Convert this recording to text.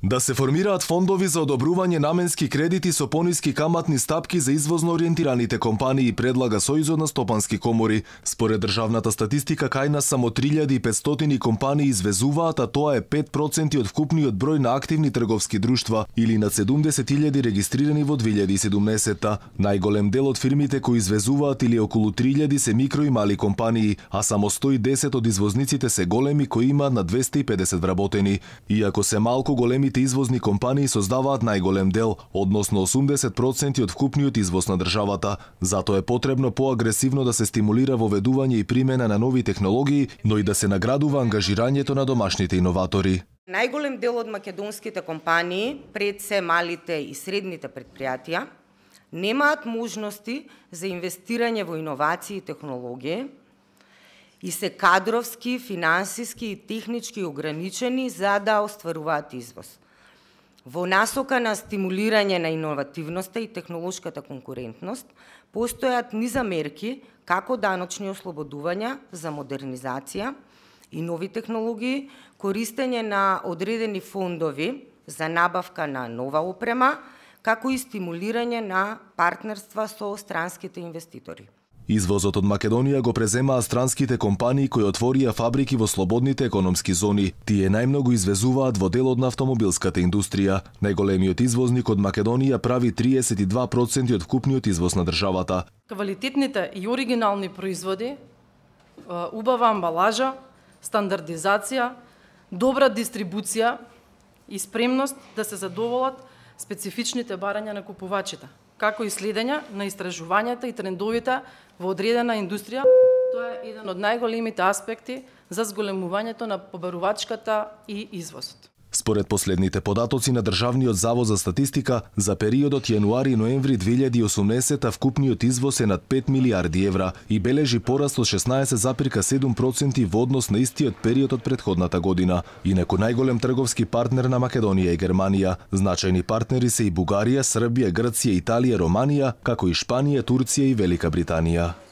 Да се формираат фондови за одобрување наменски кредити со пониски каматни стапки за извозно ориентираните компании, предлага Сојузот на стопански комори. Според државната статистика, кај нас само 3500 компании извезуваат, а тоа е 5% од вкупниот број на активни трговски друштва или над 70.000 регистрирани во 2017-та. Најголем дел од фирмите кои извезуваат или околу 3000 се микро и мали компании, а само 110 од извозниците се големи кои имаат на 250 вработени. Иако се малку, големите извозни компании создаваат најголем дел, односно 80% од вкупниот извоз на државата. Затоа е потребно поагресивно да се стимулира воведување и примена на нови технологии, но и да се наградува ангажирањето на домашните иноватори. Најголем дел од македонските компании, пред се малите и средните предпријатија, немаат можности за инвестирање во иновации и технологии и се кадровски, финансиски и технички ограничени за да остваруваат извоз. Во насока на стимулирање на иновативноста и технолошката конкурентност, постојат низа мерки како даночни ослободувања за модернизација и нови технологии, користење на одредени фондови за набавка на нова опрема, како и стимулирање на партнерства со странските инвеститори. Извозот од Македонија го преземаа странските компании кои отворија фабрики во слободните економски зони. Тие најмногу извезуваат во делот на автомобилската индустрија. Најголемиот извозник од Македонија прави 32% од вкупниот извоз на државата. Квалитетните и оригинални производи, убава амбалажа, стандардизација, добра дистрибуција и спремност да се задоволат специфичните барања на купувачите, како и следење на истражувањата и трендовите во одредена индустрија. Тоа е еден од најголемите аспекти за зголемувањето на побарувачката и извозот. Според последните податоци на Државниот завод за статистика, за периодот јануари-ноември 2018 вкупниот извоз е над 5 милиарди евра и бележи пораст од 16,7% во однос на истиот период од претходната година. Инаку најголем трговски партнер на Македонија е Германија. Значајни партнери се и Бугарија, Србија, Грција, Италија, Романија, како и Шпанија, Турција и Велика Британија.